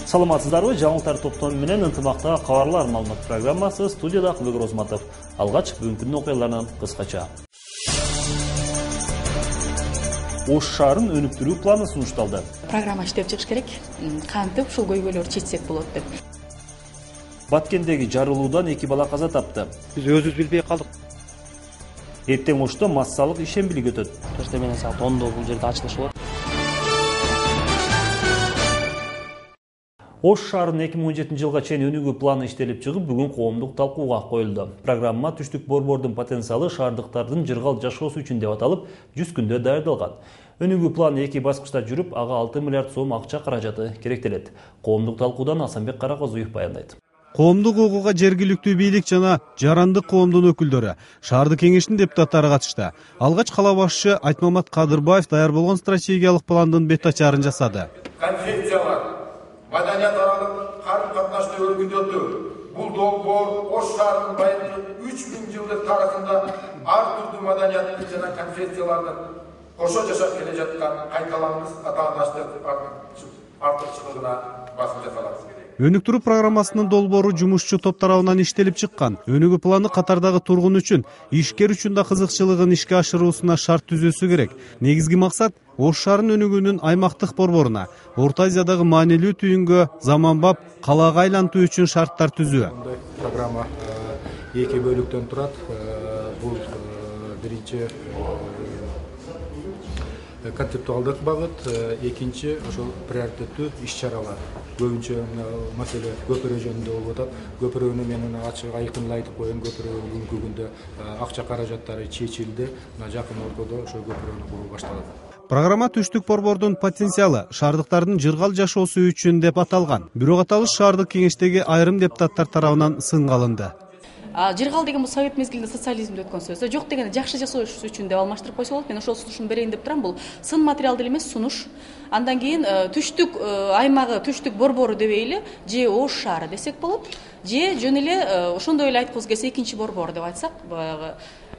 Саламатсыздарбы? Жаңылыктар топтому менен ынтымактагы кабарлар маалымат программасы. Студияда Акылбек Розматов. Алгач бүгүнкү окуялардан кыскача. Ош шаарын өнүктүрүү планы сунушталды. Программа иштеп чыгыш керек. Кантип ушул көйгөйлөрдү чечсек болот деп. Баткендеги жарылуудан 2 бала каза тапты. Биз өзүбүз билбей калдык. Эртең Ошто массалык ишембилик өтөт. Төртө менен саат 10до бул жерде ачылыш болот. Ош шаарынын 2017 жылга чейин өнүгүү планы иштелип чыгып, бүгүн коомдук талкууга коюлду. Программа түштүк борбордун потенциалы шаардыктардын жыргал жашоосу үчүн деп аталып, 100 күндө даярдалган. Өнүгүү планы 2 баскычта жүрүп, ага 6 миллиард сом акча каражаты керектелет. Коомдук талкуудан Асанбек Каракозуев баяндайт. Коомдук укугга жергиликтүү бийлик жана жарандык коомдун өкүлдөрү, шаардык кеңештин депутаттары катышты. Алгач кала башчы Айтмамат Кадырбаев даяр болгон стратегиялык пландын бет ачарын жасады. Конфессиялар, маданият аралык карым-катнашты өргүндөтүү. Бул долбоор Ош шаарынын байыркы 3000 жылдык тарыхында ар түрдүү маданияттын жана конфессиялардын кошо жашап келе жаткан кайталангыс атаандаштык артыкчылыгына басым жасалат. Өнүктүрүү программасынын долбоору жумушчу топ тарабынан иштелип чыккан. Өнүгүү планы катардагы тургун үчүн, ишкер үчүн да кызыкчылыгын ишке ашыруусуна шарт түзүүсү керек. Негизги максат Ош шаарынын өнүгүүнүн аймактык борборуна, Орто Азиядагы маанилүү түйүнгө заманбап калаага айлантуу үчүн шарттар түзүү. Программа 2 бөлүктөн турат. Бул биринчи концептуалдык багыт, экинчи ошол приоритеттүү иш-чаралар. Көбүнчө маселе көпүрө жөнүндө болуп атат. Көпүрөнү мен ачык айкын айтып коеюн, көпүрө бүгүнкү күндө акча каражаттары чечилди. Жакын ортодо ошол көпүрөнү куруу башталат. Программа түштүк борбордун потенциалы шаардыктардын жыргал жашоосу үчүн деп аталган. Бирок аталыш шаардык кеңештеги айрым депутаттар тарабынан сынга алынды. Жыргал деген бул совет мезгилинде социализмде өткөн сөз. Жок дегенде жакшы жашоош үчүн деп алмаштырып койсо болот. Мен ошол сунушумду берейин деп турам. Бул сын материал деле эмес, сунуш. Андан кийин түштүк аймагы, түштүк борбору дебейли, же Ош шаары десек болот, же жөн эле ошондой эле айткыбыз келсе экинчи борбор деп айтсак, баягы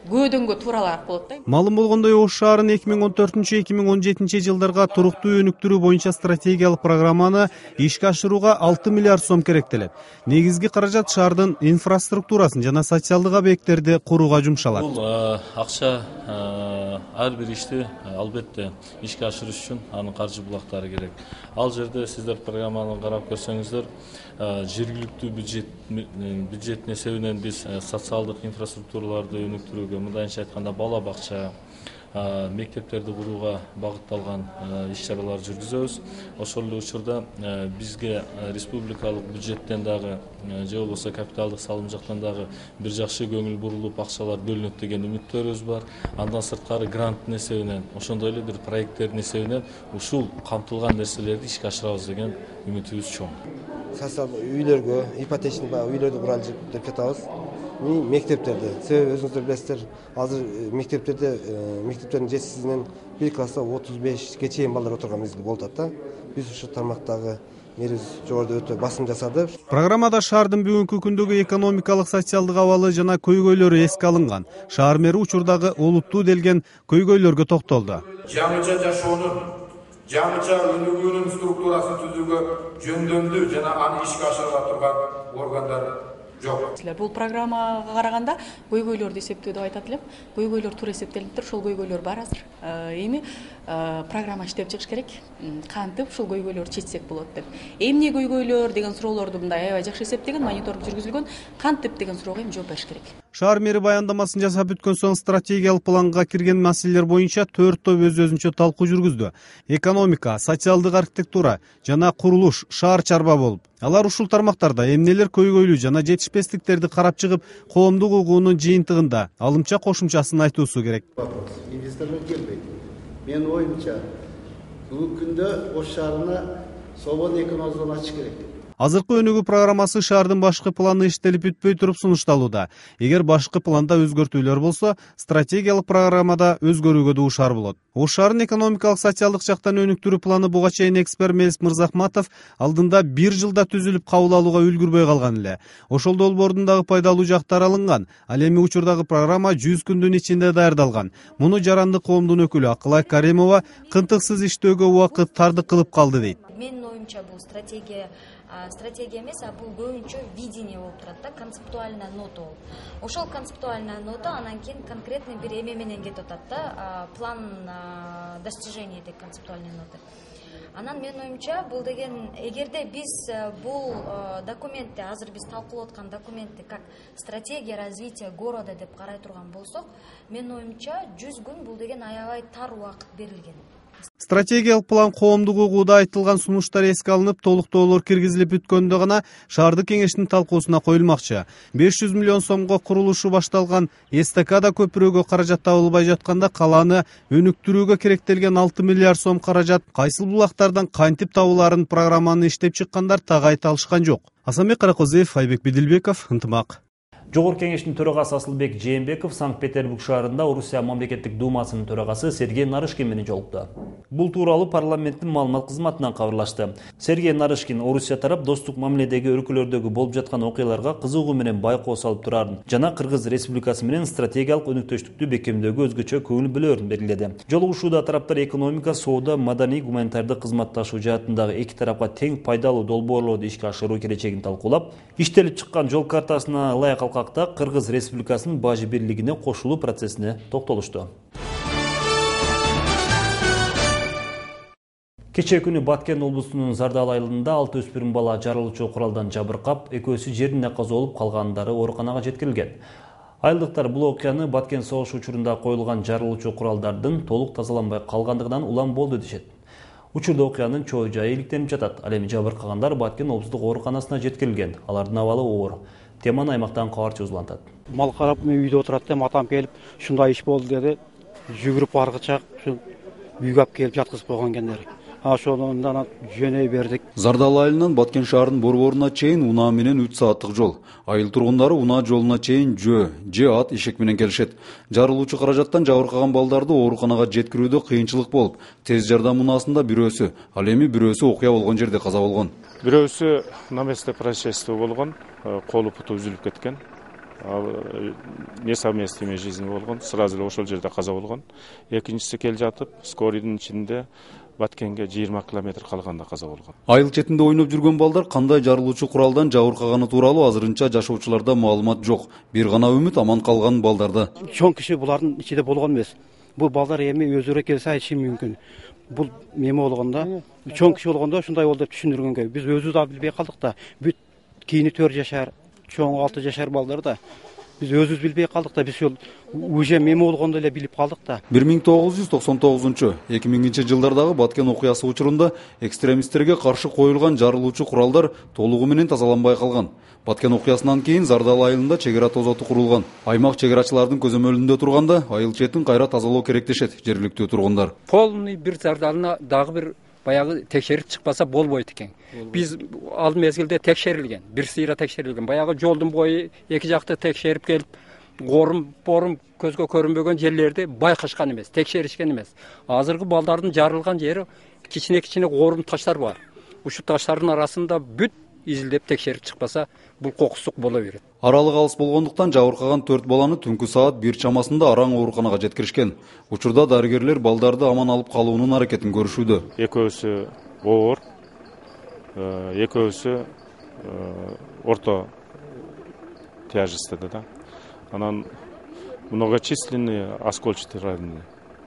көөдөнгө тууралаак болот да. Маалым болгондой, Ош шаарынын 2014-2017 жылдарга туруктуу өнүктүрүү боюнча стратегиялык программаны ишке ашырууга 6 миллиард сом керектелет. Негизги каражат шаардын инфраструктурасын жана социалдык объекттерди курууга жумшалат. Бул акча ар бир ишти албетте ишке ашырыш үчүн анын каржы булактары керек. Ал жерде сиздер программаны карап көрсөңүздөр, жергиликтүү бюджеттин эсебинен биз социалдык инфраструктураларды өнүктүрүүгө, мындайча айтканда бала бакча, мектептерди курууга багытталган иш-чаралар жүргүзөбүз. Ошол эле учурда бизге республикалык бюджеттен дагы же болбосо капиталдык салым жактан дагы бир жакшы көңүл бурулуп акчалар бөлүнөт деген үмүттөрүбүз бар. Андан сырткары гранттын эсебинен, ошондой эле бир проекттердин эсебинен ушул камтылган нерселерди ишке ашырабыз деген үмүтүбүз чоң. Социалдык үйлөргө, ипотечный үйлөрдү куралы деп жатабыз. Мектептерде, себеби өзүңүздөр билесиздер, азыр мектептердин жетишсиздигинен бир класста 35ге чейин балдар отурган мезгил болуп атат да. Биз ушул тармактагы мериз жогоруда өтө басым жасады. Программада шаардын бүгүнкү күндөгү экономикалык, социалдык абалы жана көйгөйлөрү эске алынган. Шаар мэри учурдагы олуттуу делген көйгөйлөргө токтолду. Жаңыча жашоонун, жаңыча өнүгүүнүн структурасын түзүүгө жөндөмдүү жана аны ишке ашыра турган органдар жок. Бул программага караганда көйгөйлөрдү эсептөө деп айтат элем. Көйгөйлөр туура эсептелиптир, ошол көйгөйлөр бар азыр. Эми программа иштеп чыгыш керек. Кантип ушул көйгөйлөрдү чечсек болот деп. Эмне көйгөйлөр деген суроолорду мындай аябай жакшы эсептеген, мониторинг жүргүзүлгөн. Кантип деген суроого эми жооп бериш керек. Шаар мэри баяндамасын жасап бүткөн соң стратегиялык планга кирген маселелер боюнча 4 топ өз-өзүнчө талкуу жүргүздү. Экономика, социалдык архитектура жана курулуш, шаар чарба болуп. Алар ушул тармактарда эмнелер көйгөйлүү жана жетишпестиктерди карап чыгып, коомдук угуунун жыйынтыгында алымча кошумчасын айтуусу керек. Инвесторлор келбейт. Менин оюмча, бүгүнкү күндө Ош шаарына свободный экономикалык зона ачыш керек. Азыркы өнүгүү программасы шаардын башкы планы иштелип бүтпөй туруп сунушталууда. Эгер башкы планда өзгөртүүлөр болсо, стратегиялык программада өзгөрүүгө дуушар болот. Ош шаарынын экономикалык, социалдык жактан өнүктүрүү планы буга чейин эксперт Мелис Мырзахматов алдында 1 жылда түзүлүп кабыл алууга үлгүрбөй калган эле. Ошол долбоордун дагы пайдалуу жактары алынган. Ал эми учурдагы программа 100 күндүн ичинде даярдалган. Муну жарандык коомдун өкүлү Акылай Каримова кынтыксыз иштөөгө убакыт тардык кылып калды дейт. Менин оюмча бул стратегия стратегия эмес, а бул көбүнчө видение болуп турат да, концептуальная нота болуп. Ошол концептуальная нота анан кийин конкретный бир эме менен кетип атат да, план достижения этой концептуальной ноты. Анан менин оюмча бул деген, эгерде биз бул документти, азыр биз талкуулап аткан документти как стратегия развития города деп карай турган болсок, менин оюмча 100 күн бул деген аябай тар убакыт берилген. Стратегиялык план коомдук угууда айтылган сунуштар эске алынып, толуктоолор киргизилип бүткөндө гана шаардык кеңештин талкуусуна коюлмакчы. 500 миллион сомго курулушу башталган эстакада көпүрөгө каражат табылбай жатканда, калааны өнүктүрүүгө керектелген 6 миллиард сом каражат кайсыл булактардан кантип табылаарын программаны иштеп чыккандар так айта алышкан жок. Асанбек Каракозиев, Айбек Бидилбеков, Ынтымак. Жогорку кеңештин төрагасы Асылбек Жээнбеков Санкт-Петербург шаарында Орусия мамлекеттик думасынын төрагасы Сергей Нарышкин менен жолукту. Бул тууралуу парламенттин маалымат кызматынан кабарлашты. Сергей Нарышкин Орусия тарап достук мамиледеги өлкөлөрдөгү болуп жаткан окуяларга кызыгуу менен байкоо салып турарын жана Кыргыз Республикасы менен стратегиялык өнүктүштүктү бекемдөөгө өзгөчө көңүл бөлөөрүн белгиледи. Жолугушууда тараптар экономика, соода, маданий, гуманитардык кызматташуу жаатындагы эки тарапка тең пайдалуу долбоорлорду ишке ашыруу келечегин талкуулап, иштелип чыккан жол картасына ылайык Кыргыз Республикасынын бажы бирлигине кошулуу процессине токтолушту. Кечээ күнү Баткен облусунун Зардал айылында 6 өспүрүм бала жарылуучу куралдан жабыркап, экөөсү жерине каза болуп, калгандары ооруканага жеткирилген. Айылдыктар бул окуяны Баткен согуш учурунда коюлган жарылуучу куралдардын толук тазаланбай калгандыгынан улам болду дешет. Учурда окуянын чоо жайы иликтенип жатат. Ал эми жабыркагандар Баткен облустук ооруканасына жеткирилген. Алардын абалы оор. Теманы аймактан кабарчы узулантат. Мал карап, мен үйдө отурат да, атам келип, ушундай иш болду деди. Жүгүрүп баргычак, ушу үйгө алып келип жаткызып койгон экендер. Ошондон жөнөй бердик. Зардал айылынан Баткен шаарынын борборуна чейин унаа менен 3 сааттык жол. Айыл тургундары унаа жолуна чейин же ат ишек менен келишет. Жарылуучу каражаттан жабыркаган балдарды ооруканага жеткирүүдө кыйынчылык болуп, тез жардам унаасында бирөөсү, ал эми бирөөсү окуя болгон жерде каза болгон. Бирөөсү на месте происшествия болгон, колу путу үзүлүп кеткен. Несовместимая жизнь болгон, сразу эле ошол жерде каза болгон. Экинчиси кел жатып, скорыйдын ичинде Баткенге 20 километр калганда каза болгон. Айыл четинде ойноп жүргөн балдар кандай жарылуучу куралдан жабыркаганы тууралуу азырынча жашоочуларда маалымат жок. Бир гана үмүт аман калган балдарда. Чоң киши булардын ичинде болгон эмес. Бул балдар эми өзүрө келсе айтышы мүмкүн. Бул эме болгондо, чоң киши болгондо ушундай болду деп түшүндүргөнгө биз өзүбүз да билбей калдык да. Бүт кийини 4 жашар, чоң 6 жашар балдар да. Биз өзүбүз билбей калдык да, биз уже меме болгондо эле билип калдык да. 1999-2000 жылдардагы Баткен окуясы учурунда экстремисттерге каршы коюлган жарылуучу куралдар толугу менен тазаланбай калган. Баткен окуясынан кийин Зардал айылында чегара тозоту курулган. Аймак чегарачылардын көзөмөлүндө турганда айыл четин кайра тазалоо керек дешет жергиликтүү тургундар. Полный бир Зардалына дагы бир баягы текшерип чыкпаса болбойт экен. Биз ал мезгилде текшерилген, бир сыйра текшерилген. Баягы жолдун бою эки жакты текшерип келип, порум көзгө көрүнбөгөн жерлерди байкашкан эмес, текшеришкен эмес. Азыркы балдардын жарылган жери кичине орум таштар бар. Ушу таштардын арасында бүт изилдеп текшерип чыкпаса, бул кокустук боло берет. Аралык алыс болгондуктан жабыркаган 4 баланы түнкү саат 1 чамасында араң ооруканага жеткиришкен. Учурда дарыгерлер балдарды аман алып калуунун аракетин көрүшүүдө. Экөөсү оор, экөөсү орто тяжестиде да. Анан многочисленные оскольчатые ранения.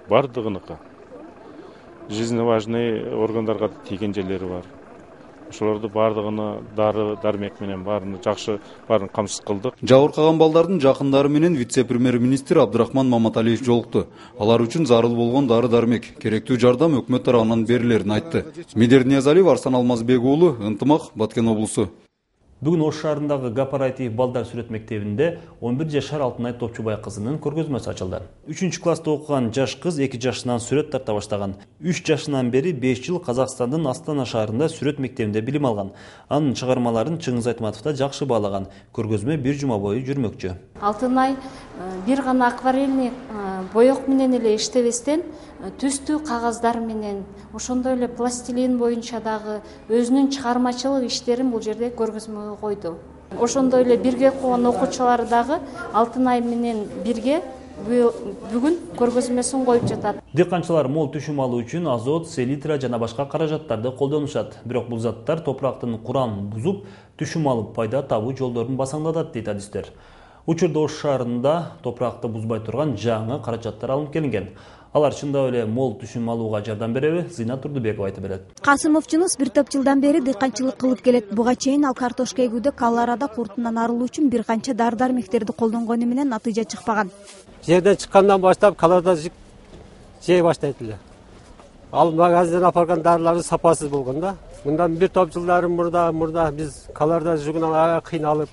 Бардыгыныкы. Жизненно важный органдарга тийген жерлери бар. Ошолорду бардыгына дары дармек менен баарын жакшы баарын камсыз кылдык. Жабыркаган балдардын жакындары менен вице-премьер-министр Абдрахман Маматалиев жолукту. Алар үчүн зарыл болгон дары дармек, керектүү жардам өкмөт тарабынан берилерин айтты. Медер Ниязалиев, Арсан Алмазбек уулу, Ынтымак, Баткен облусу. Бүгүн Ош шаарындагы Кооператив балдар сүрөт мектебинде 11 жашар Алтынай Топчубай кызынын көргөзмөсү ачылды. 3-класста окуган жаш кыз 2 жашынан сүрөт тарта баштаган. 3 жашынан бери 5 жыл Казакстандын Астана шаарында сүрөт мектебинде билим алган. Анын чыгармаларын Чыңгыз Айтматов да жакшы баалаган. Көргөзмө 1 жума бою жүрмөкчү. Алтынай бир гана акварельный боек менен эле иштебестен түстүү кагаздар менен, ошондой эле пластилин боюнча дагы өзүнүн чыгармачылык иштерин бул жерде көргөзмөгө койду. Ошондой эле бирге окуган окуучулар дагы Алтынай менен бирге бүгүн көргөзмөсүн коюп жатат. Дыйканчылар мол түшүм алуу үчүн азот, селитра жана башка каражаттарды колдонушат. Бирок бул заттар топурактын курамын бузуп, түшүм алып пайда табуу жолдорун басаңдатат дейт адистер. Учурда Ош шаарында топуракты бузбай турган жаңы каражаттар алынып келинген. Алар чындап эле мол түшүм алууга жардам береби? Зина Турдубекова айтып берет. Касымов Жунус бир топ жылдан бери дыйканчылык кылып келет. Буга чейин ал картошка эгүүдө колорада куртунан арылуу үчүн бир канча дары-дармектерди колдонгону менен натыйжа чыкпаган. Жерден чыккандан баштап колорада жей баштайт эле. Ал магазинден апарган дарылардын сапасыз болгон да. Мындан бир топ жылдары мурда биз колорада жугунан аябай кыйналып,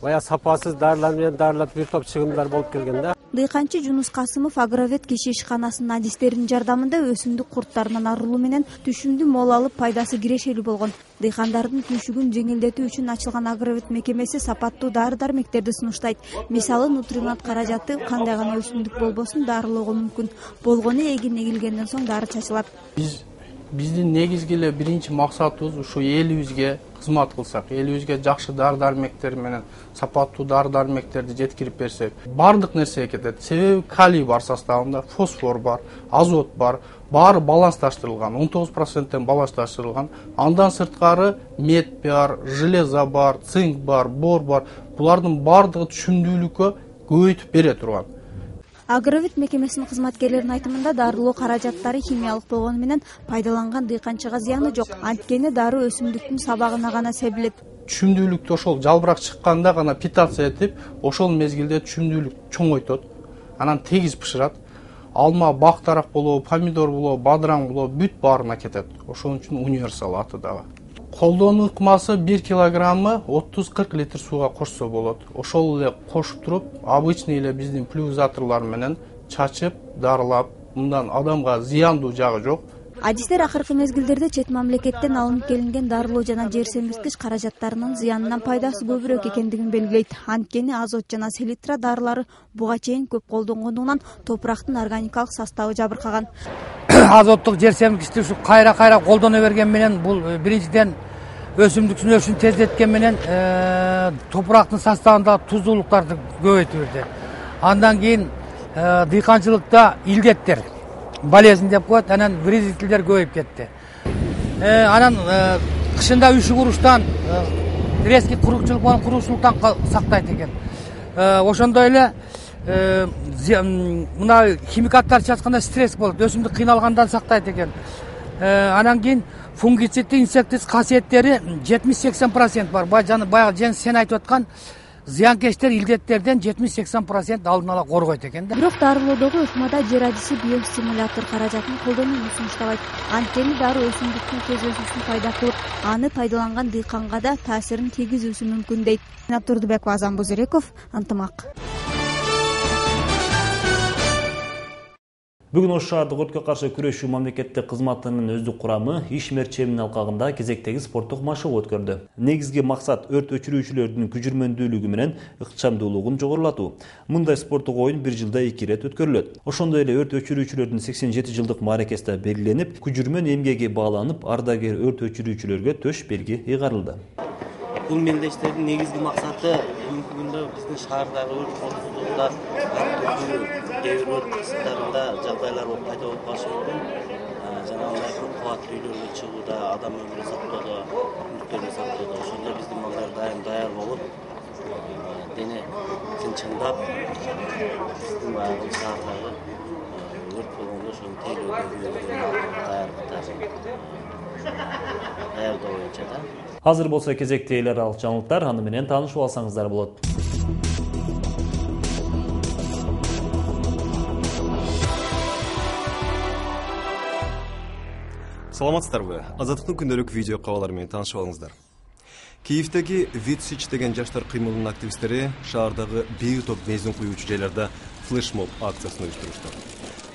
бая сапасыз дарылар менен дарылап бир топ чыгымдар болуп келген да. Дыйканчы Жунус Касымов Агровет киши ишканасынын адистеринин жардамында өсүмдүк курттарынан арылуу менен түшүмдү мол алып пайдасы кирешелүү болгон. Дыйкандардын күйшүгүн жеңилдетүү үчүн ачылган Агровет мекемеси сапаттуу дары-дармектерди сунуштайт. Мисалы нутримат каражаты кандай гана өсүмдүк болбосун дарылоого мүмкүн. Болгону эгин эгилгенден соң дары чачылат. Биздин негизги эле биринчи максатыбыз ушу элибизге кызмат кылсак, элибизге жакшы дары-дармектер менен сапаттуу дары-дармектерди жеткирип берсек, бардык нерсеге кетет. Себеби калий бар составында, фосфор бар, азот бар, баары балансташтырылган, 19%тен балансташтырылган. Андан сырткары мед бар, железо бар, цинк бар, бор бар. Булардын бардыгы түшүмдүүлүккө көбөйтүп бере турган. Агровет мекемесинин кызматкерлеринин айтымында дарылоо каражаттары химиялык болгону менен пайдаланган дыйканчыга зыяны жок. Анткени дары өсүмдүктүн сабагына гана себилет. Түшүмдүүлүктү ошол жалбырак чыкканда гана питация этип, ошол мезгилде түшүмдүүлүк чоңойтот. Анан тегиз пышырат. Алма, бактарак болобу, помидор болобу, бадыраң болобу, бүт баарына кетет. Ошон үчүн универсал аты дагы. Колдонуу ыкмасы 1 килограммы 30-40 литр сууга кошсо болот. Ошол эле кошуп туруп, обычный эле биздин пульверизаторлор менен чачып, дарылап, мындан адамга зыяндуу жагы жок. Адистер акыркы мезгилдерде чет мамлекеттен алынып келинген дарылоо жана жер семирткич каражаттарынын зыянынан пайдасы көбүрөөк экендигин белгилейт. Анткени азот жана селитра дарылары буга чейин көп колдонгондугунан топурактын органикалык составы жабыркаган. Азоттук жер семирткичти ушу кайра колдоно берген менен бул биринчиден өсүмдүктүн өсүшүн тездеткен менен топурактын составындагы туздуулуктарды көбөйтүп берди. Андан кийин дыйканчылыкта илдеттер, болезнь деп коет, анан вредителдер көбөйүп кетти. Анан кышында үшүк уруштан, резкий куручулук менен куруучулуктан сактайт экен. Ошондой эле мына химикаттар чачканда стресс болот, өсүмдүк кыйналгандан сактайт экен. Анан кийин фунгицидти, инсектицид касиеттери 70-80% бар. Баягы Жеңис сен айтып аткан зыянкечтер, илдеттерден 70-80% алдын ала коргойт экен да. Бирок дарылоодогу ыкмада жер адиси биостимулятор каражатын колдонууну сунуштабайт. Анткени дары өсүмдүктүн тез өсүшүн пайда кылып, аны пайдаланган дыйканга да таасирин тийгизүүсү мүмкүн дейт. Зина Турдубекова, Азан Бузереков, Ынтымак. Бүгүн Ош шаардык өрткө каршы күрөшүү мамлекеттик кызматынын өздүк курамы иш мерчеминин алкагында кезектеги спорттук машыгуу өткөрдү. Негизги максат өрт өчүрүүчүлөрдүн күжүрмөндүүлүгү менен ыкчамдуулугун жогорулатуу. Мындай спорттук оюн бир жылда 2 ирет өткөрүлөт. Ошондой эле өрт өчүрүүчүлөрдүн 87 жылдык мааракеси да белгиленип, күжүрмөн эмгеги бааланып, ардагер өрт өчүрүүчүлөргө төш белги ыйгарылды. Бул мелдештердин негизги максаты бүгүнкү күндө биздин шаардагы өрт коопсуздугунда кээ бир өрт кысымдарында жагдайлар пайда болуп калышы мүмкүн. Жанагындай көп кабаттуу үйлөргө чыгууда, адам өмүрүн сактоодо, мүлктөрүн сактоодо ошондо биздин балдар дайым даяр болуп, дене тынчындап, биздин баягы шаардагы өрт болгондо ошону тейлөөгө даярдоо боюнча да. Азыр болсо кезекте эл аралык жаңылыктар, аны менен таанышып алсаңыздар болот. Саламатсыздарбы? Азаттыктын күндөлүк видео кабарлары менен таанышып алыңыздар. Киевдеги Витсич деген жаштар кыймылынын активисттери шаардагы бир топ бензин куюучу жайларда флешмоб акциясын уюштурушту.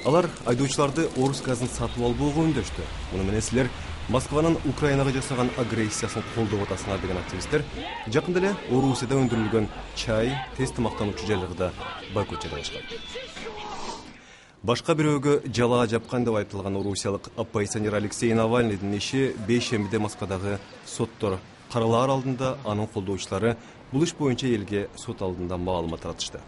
Алар айдоочуларды орус газын сатып албоого үндөштү. Муну менен силер Москванын Украинага жасаган агрессиясын колдоп атасыңар деген активисттер жакында эле Орусияда өндүрүлгөн чай, тез тамактануучу жайларда бойкот жарыялашкан. Башка бирөөгө жалаа жапкан деп айтылган орусиялык оппозиционер Алексей Навальныйдын иши бейшембиде Москвадагы соттор каралаар алдында анын колдоочулары бул иш боюнча элге сот алдында маалымат таратышты.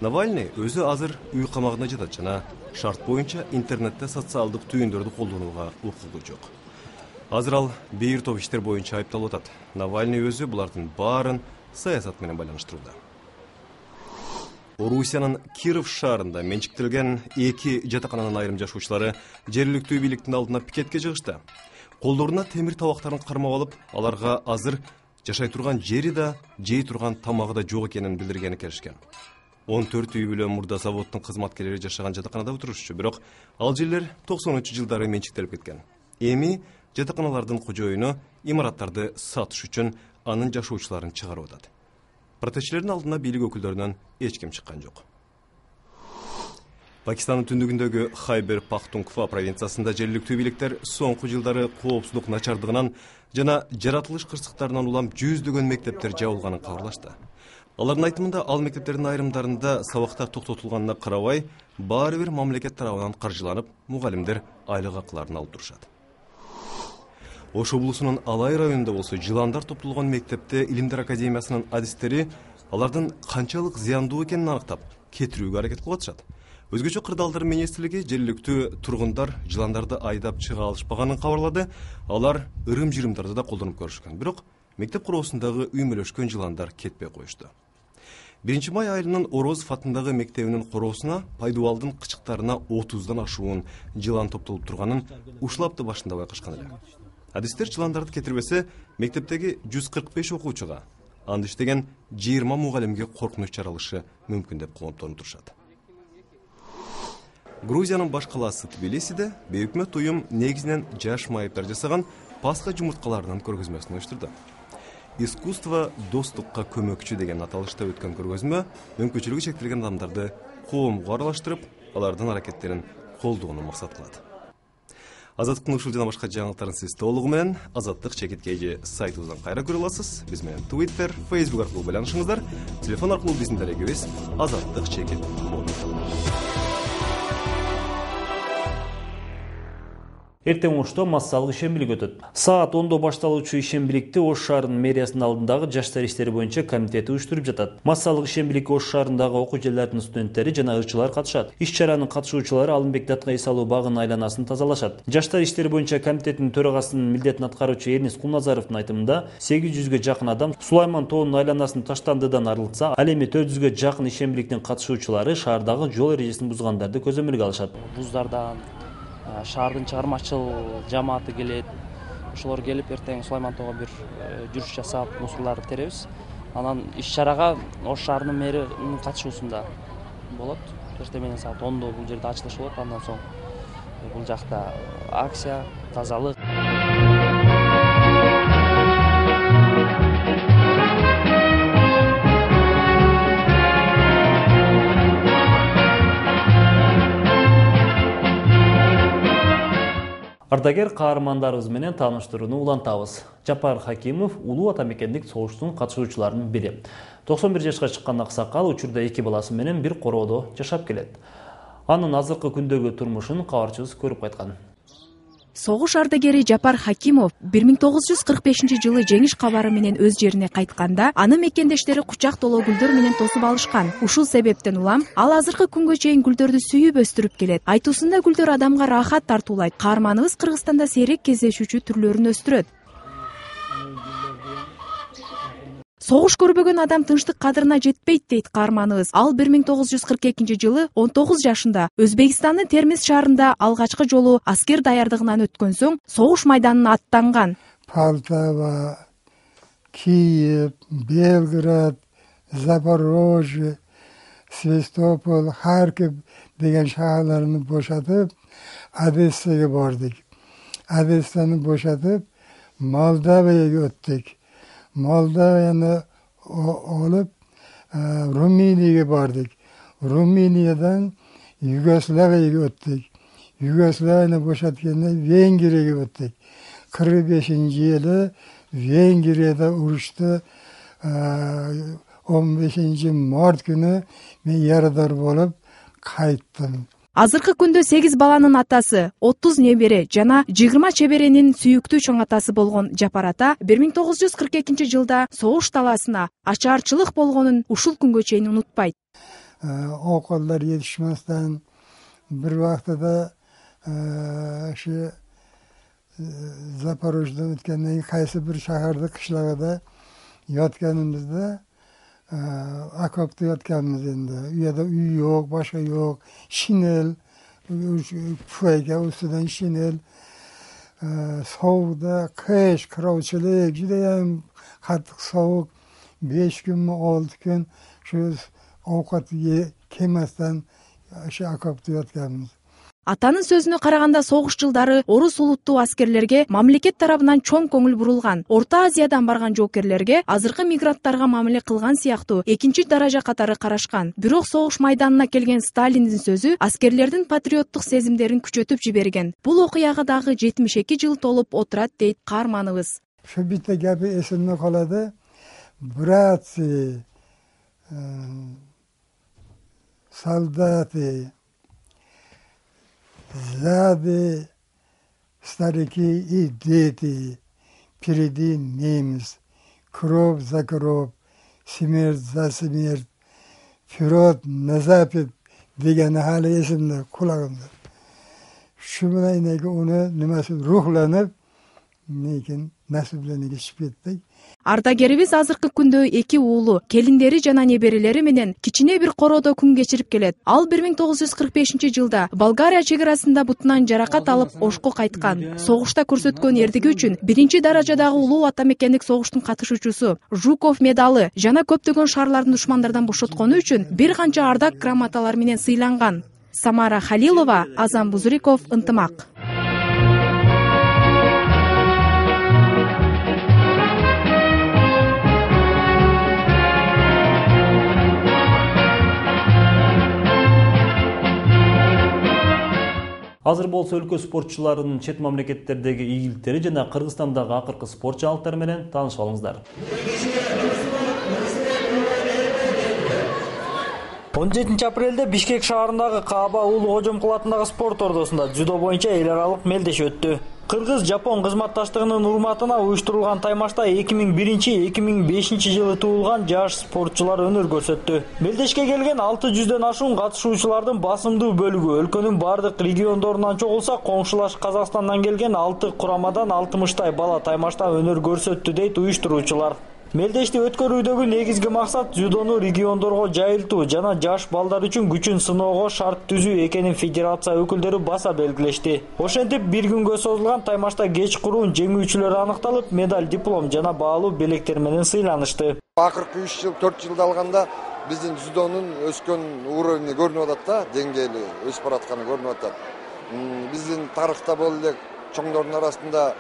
Навальный өзү азыр үй камагында жатат жана шарт боюнча интернетте социалдык түйүндөрдү колдонууга укугу жок. Азыр ал бир топ иштер боюнча айыпталып атат. Навальный өзү булардын баарын саясат менен байланыштырууда. Орусиянын Киров шаарында менчиктелген 2 жатакананын айрым жашоочулары жергиликтүү бийликтин алдына пикетке чыгышты. Колдоруна темир табактарын кармап алып, аларга азыр жашай турган жери да, жей турган тамагы да жок экенин билдиргени келишкен. 14 үй бүлө мурда заводдун кызматкерлери жашаган жатаканада отурушчу, бирок ал жерлер 90-жылдары менчиктелип кеткен. Эми жатаканалардын кожоюну имараттарды сатыш үчүн анын жашоочуларын чыгарып атат. Протестчилердин алдына бийлик өкүлдөрүнөн эч ким чыккан жок. Пакистандын түндүгүндөгү Хайбер Пахтунква провинциясында жергиликтүү бийликтер соңку жылдары коопсуздук начардыгынан жана жаратылыш кырсыктарынан улам жүздөгөн мектептер жабылганын кабарлашты. Алардын айтымында ал мектептердин айрымдарында сабактар токтотулганына карабай, баары бир мамлекет тарабынан каржыланып, мугалимдер айлык акыларын алып турушат. Ош облусунун Алай районунда болсо жыландар топтолгон мектепте Илимдер академиясынын адистери алардын канчалык зыяндуу экенин аныктап, кетирүүгө аракет кылып атышат. Өзгөчө кырдаалдар министрлиги жергиликтүү тургундар жыландарды айдап чыга алышпаганын кабарлады. Алар ырым-жырымдарды да колдонуп көрүшкөн. Бирок мектеп короосундагы үймөлөшкөн жыландар кетпей коюшту. 1 май айылынын Орозов атындагы мектебинин короосуна пайдубалдын кычыктарына 30дан ашуун жылан топтолуп турганын ушул апта башында байкашкан эле. Адистер жыландарды кетирбесе, мектептеги 145 окуучуга, анда иштеген 20 мугалимге коркунуч жаралышы мүмкүн деп кооптонуп турушат. Грузиянын баш калаасы Тбилисиде бейөкмөт уюм негизинен жаш майыптар жасаган Пасха жумурткаларынын көргөзмөсүн уюштурду. Искусство достукка көмөкчү деген аталышта өткөн көргөзмө мүмкүнчүлүгү чектелген адамдарды коомго аралаштырып, алардын аракеттерин колдоону максат кылат. Азаттыктын ушул жана башка жаңылыктарын сиз толугу менен Азаттык чекиткейи сайтыбыздан кайра көрө аласыз. Биз менен Twitter, Facebook аркылуу байланышыңыздар. Телефон аркылуу биздин дарегибиз Азаттык чекит. Эртең Ошто массалык ишембилик өтөт. Саат 10-до башталуучу ишембиликти Ош шаарынын мэриясынын алдындагы жаштар иштери боюнча комитети уюштуруп жатат. Массалык ишембиликке Ош шаарындагы окуу жерлердин студенттери жана ырчылар катышат. Иш-чаранын катышуучулары Алымбек Датка эс алуу багынын айланасын тазалашат. Жаштар иштери боюнча комитеттин төрагасынын милдетин аткаруучу Эрнис Кулназаровдун айтымында 800ге жакын адам Сулайман тоонун айланасын таштандыдан арылтса, ал эми 400ге жакын ишембиликтин катышуучулары шаардагы жол эрежесин бузгандарды көзөмөлгө алышат. Вуздардан шаардын чыгармачыл жамааты келет. Ошолор келип эртең Сулайман тоого бир жүрүш жасап, мусурларды теребиз. Анан иш-чарага Ош шаарынын мэринин катышуусунда болот. Эртең менен саат 10-до бул жерде ачылыш болот. Андан соң бул жакта акция, тазалык. Ардагер каармандарыбыз менен тааныштырууну улантабыз. Жапар Хакимов улуу ата мекендик согуштун катышуучуларынын бири. 91 жашка чыккан аксакал учурда 2 баласы менен бир короодо жашап келет. Анын азыркы күндөгү турмушун кабарчыбыз көрүп кайткан. Согуш ардагери Жапар Хакимов 1945-жылы жеңиш кабары менен өз жерине кайтканда, аны мекендештери кучак толо гүлдөр менен тосуп алышкан. Ушул себептен улам ал азыркы күнгө чейин гүлдөрдү сүйүп өстүрүп келет. Айтуусунда гүлдөр адамга рахат тартуулайт. Каарманыбыз Кыргызстанда сейрек кездешүүчү түрлөрүн өстүрөт. Согуш көрбөгөн адам тынчтык кадырына жетпейт дейт каарманыбыз. Ал 1942-жылы 19 жашында Өзбекстандын Термиз шаарында алгачкы жолу аскер даярдыгынан өткөн соң согуш майданына аттанган. Полтава, Киев, Белград, Запорожье, Севастополь, Харьков деген шаарларды бошотуп, Одессага бардык. Одессаны бошотуп, Молдовияга өттүк. Молдовияны олуп, Румынияга бардык. Румыниядан Югославияга өттүк. Югославияны бошоткенде Венгрияга өттүк. 45-жылы Венгрияда урушта 15 март күнү мен ярадар болуп кайттым. Азыркы күндө 8 баланын атасы, 30 небере жана 20 чеберенин сүйүктүү чоң атасы болгон Жапар ата 1942-жылда согуш талаасына ачаарчылык болгонун ушул күнгө чейин унутпайт. Околдар жетишместен bir vaqtida şu Zaporojdan o'tgandan qaysi bir shaharda qishlog'ida yotganimizda okopda yotganmiz endi. U yerda uy yo'q, boshqa yo'q, shinel, pufayka ustidan shinel, sovuqda qish, qirovchilik, judayam qattiq sovuq, 5 kunmi 6 kun shu ovqat yemasdan shu okopda yotganmiz. Атанын сөзүнө караганда согуш жылдары орус улуттуу аскерлерге мамлекет тарабынан чоң көңүл бурулган. Орто Азиядан барган жоокерлерге азыркы мигранттарга мамиле кылган сыяктуу экинчи даража катары карашкан. Бирок согуш майданына келген Сталиндин сөзү аскерлердин патриоттук сезимдерин күчөтүп жиберген. Бул окуяга дагы 72 жыл толуп отурат дейт каарманыбыз. Şu bitta gapi esimde qoladi. Bratsi, soldati, сзади старики и дети, впереди немец, кровь за кровь, смерть за смерть, вперед на запад деген hali esimde, kulağımda. Şu bilan onu nimasi ruhlanıp, lekin nasiblerini geçip ettik. Ардагерибиз азыркы күндө 2 уулу, келиндери жана неберелери менен кичине бир короодо күн кечирип келет. Ал 1945-жылда Болгария чек арасында бутунан жаракат алып ошко кайткан. Согушта көрсөткөн эрдиги үчүн 1-даражадагы улуу ата мекендик согуштун катышуучусу, Жуков медалы жана көптөгөн шаарлардын душмандардан бошоткону үчүн бир канча ардак грамоталар менен сыйланган. Самара Халилова, Азам Бузуриков, Ынтымак. Азыр болсо өлкө спортчуларынын чет мамлекеттердеги ийгиликтери жана Кыргызстандагы акыркы спорт жаңылыктары менен таанышып алыңыздар. 17 апрелде Бишкек шаарындагы Кааба Улуу Кожомкул спорт ордосунда дзюдо боюнча эл аралык мелдеш өттү. Кыргыз-Жапон кызматташтыгынын урматына уюштурулган таймашта 2001-2005 жылы туулган жаш спортчулар өнөр көрсөттү. Мелдешке келген 600дөн ашуун катышуучулардын басымдуу бөлүгү өлкөнүн бардык региондорунан чогулса, коңшулаш Казакстандан келген 6 курамадан 60 бала таймашта өнөр көрсөттү дейт уюштуруучулар. Мелдешти өткөрүүдөгү негизги максат дзюдону региондорго жайылтуу жана жаш балдар үчүн күчүн сыноого шарт түзүү экенин федерация өкүлдөрү баса белгилешти. Ошентип, бир күнгө созулган таймашта кечкурун жеңүүчүлөр аныкталып, медаль, диплом жана баалуу белектер менен сыйланышты. Акыркы 4 жылда алганда биздин дзюдонун өскөн уровени көрүнүп атат да, деңгээли өсүп баратканы көрүнүп атат. Биздин тарыхта боло элек чоңдордун арасында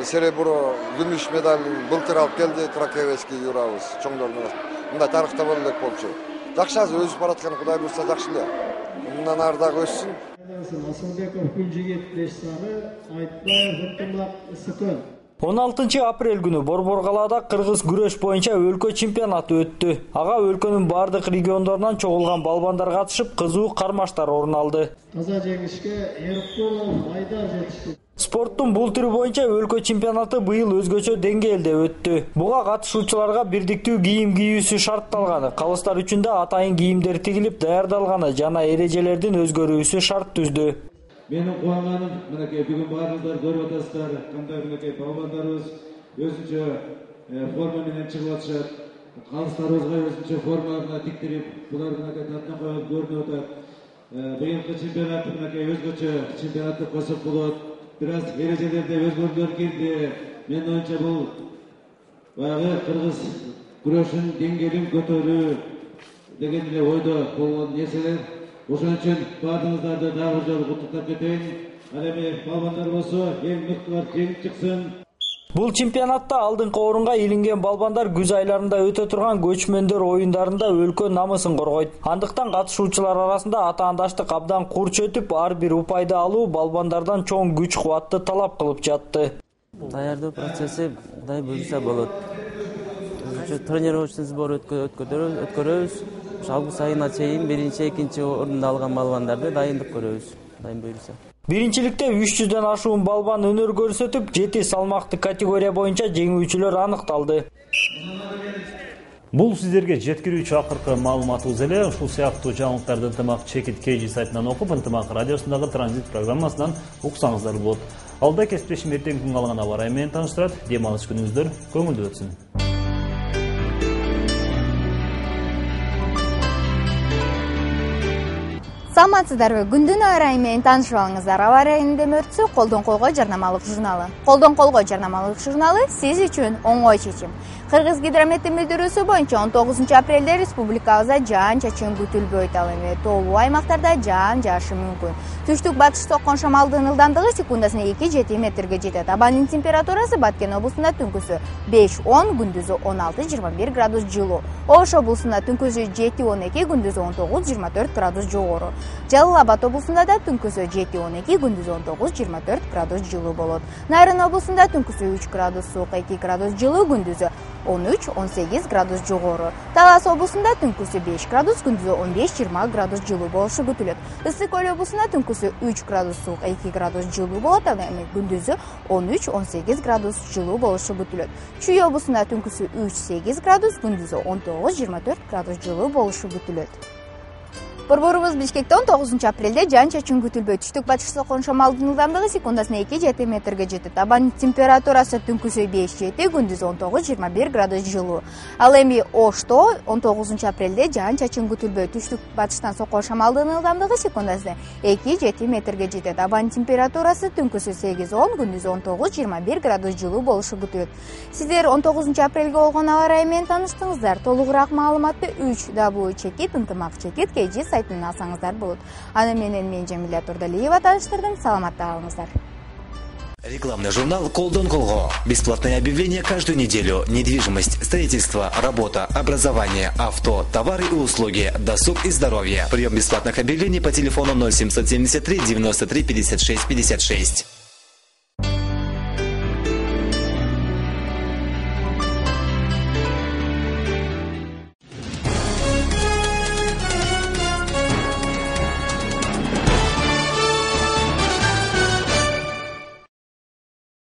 серебро, күмүш медалын былтыр алып келди Тракевецкий юрабыз чоңдордун арасында. Мындай тарыхта боло элек болчу. Жакшы азыр өсүп баратканы Кудай буйрса жакшы эле. Мындан ары дагы өссүн. Асылбеков Күлжигит 5 саны, Айтбаев Ынтымак Ысыкөн. 16 апрель күнү Борбор-Калаада кыргыз күрөш боюнча өлкө чемпионаты өттү. Ага өлкөнүн бардык региондорунан чогулган балбандар катышып, кызуу кармаштар орун алды. Таза жеңишке Эркулов Айдар жетишти. Спорттун бул түрү боюнча өлкө чемпионаты быйыл өзгөчө деңгээлде өттү. Буга катышуучуларга бирдиктүү кийим кийүүсү шартталганы, калыстар үчүн да атайын кийимдер тигилип даярдалганы жана эрежелердин өзгөрүүсү шарт түздү. Менин кубанганым, мынакей бүгүн баарыңыздар көрүп атасыздар, кандай мынакей балбандарыбыз өзүнчө форма менен чыгып атышат. Калыстарыбызга өзүнчө форма тиктирип, булар мынакей таттан коюп көрүнүп атат. Быйылкы чемпионат мынакей өзгөчө чемпионат деп койсок болот. Biraz erежелерде өзгөрүүлөр кирди. Мен оюнча бул баягы кыргыз күрөшүнүн деңгээлин көтөрүү деген эле ойдо болгон нерселер. Ошон үчүн баардыгыңыздарды дагы жолу куттуктап кетейин. Ал эми балбандар болсо эң мыктылар жеңип чыксын. Бул чемпионатта алдыңкы орунга илинген балбандар күз айларында өтө турган көчмөндөр оюндарында өлкө намысын коргойт. Андыктан катышуучулар арасында атаандаштык абдан курч өтүп, ар бир упайды алуу балбандардан чоң күч-кубатты талап кылып жатты. Даярдоо процесси Кудай буйрса болот. Тренировочный сбор өткөрөбүз. Август айына чейин 1-2 орунду алган балбандарды дайындык көрөбүз. Кудай буйрса. Биринчиликте 300дөн ашуун балбан өнөр көрсөтүп, 7 салмактуу категория боюнча жеңүүчүлөр аныкталды. Бул сиздерге жеткирүүчү акыркы маалыматыбыз эле. Ушул сыяктуу жаңылыктарды ынтымак чекит KG сайтынан окуп, ынтымак радиосундагы транзит программасынан уксаңыздар болот. Алда кесиптешим эртең күн калган аба ырайы менен тааныштырат. Дем алыш күнүңүздөр көңүлдүү өтсүн. Саламатсыздарбы? Күндүн аба ырайы менен таанышып алыңыздар. Аба ырайынын демөөрчүсү Колдон колго жарнамалык журналы. Колдон колго жарнамалык журналы сиз үчүн оңой чечим. Кыргыз гидрометтин билдирүүсү боюнча 19 апрелде республикабызда жаан-чачын күтүлбөйт, ал эми тоолуу аймактарда жаан жаашы мүмкүн. Түштүк батыш соккон шамалдын ылдамдыгы секундасына 2-7 метрге жетет. Абанын температурасы Баткен облусунда түнкүсү 5-10, күндүзү 16-21 градус жылуу. Ош облусунда түнкүсү 7-12, күндүзү 19-24 градус жогору. Жалал Абад облусунда да түнкүсү 7-12, күндүзү 19-24 градус жылуу болот. Нарын облусунда түнкүсү 3 градус суук, 2 градус жылуу, күндүзү 13-18 градус жогору. Талас облусунда түнкүсү 5 градус, күндүзү 15-20 градус жылуу болушу күтүлөт. Ысык көл облусунда түнкүсү 3 градус суук, 2 градус жылуу болот, ал эми күндүзү 13-18 градус жылуу болушу күтүлөт. Чүй облусунда түнкүсү 3-8 градус, күндүзү 19-24 градус жылуу болушу күтүлөт. Борборубуз Бишкекте 19 апрелде жаан-чачын күтүлбөйт. Түштүк батыш соккон шамалдын ылдамдыгы секундасына 2-7 метрге жетет. Абанын температурасы түнкүсү 5-7, күндүзү 19-21 градус жылуу. Ал эми Ошто 19 апрелде жаан-чачын күтүлбөйт. Түштүк батыштан соккон шамалдын ылдамдыгы секундасына 2-7 метрге жетет. Абанын температурасы түнкүсү 8-10, күндүзү 19-21 градус жылуу болушу күтүлөт. Сиздер 19 апрелге болгон аба ырайы менен тааныштыңыздар. Толугураак маалыматты 3W чекит ынтымак чекит KG сайтынан алсаңыздар болот. Аны менен мен Жамиля Турдалиева тааныштырдым. Саламатта калыңыздар. Рекламный журнал «Колдон колго». Бесплатные объявления каждую неделю. Недвижимость, строительство, работа, образование, авто, товары и услуги, досуг и здоровье. Прием бесплатных объявлений по телефону 0773 93 56 56.